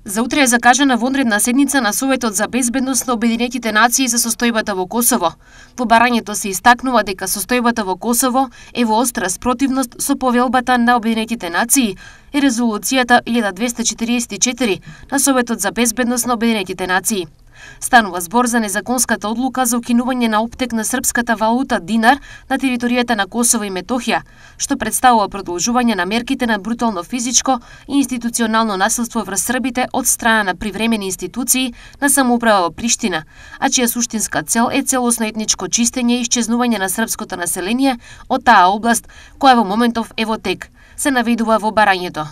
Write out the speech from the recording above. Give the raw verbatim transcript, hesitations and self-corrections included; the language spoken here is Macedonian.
За утре е закажана вонредна седница на Советот за безбедност на Обединетите нации за состојбата во Косово. Во барањето се истакнува дека состојбата во Косово е во остра спротивност со повелбата на Обединетите нации и резолуцијата илјада двесте четириесет и четири на Советот за безбедност на Обединетите нации. Станува збор за незаконската одлука за укинување на оптек на српската валута динар на територијата на Косово и Метохија, што представува продолжување на мерките на брутално физичко и институционално насилство врз србите од страна на привремени институции на самоуправа во Приштина, а чија суштинска цел е целосно етничко чистење и исчезнување на српското население од таа област, која во моментов е во тек, се наведува во барањето.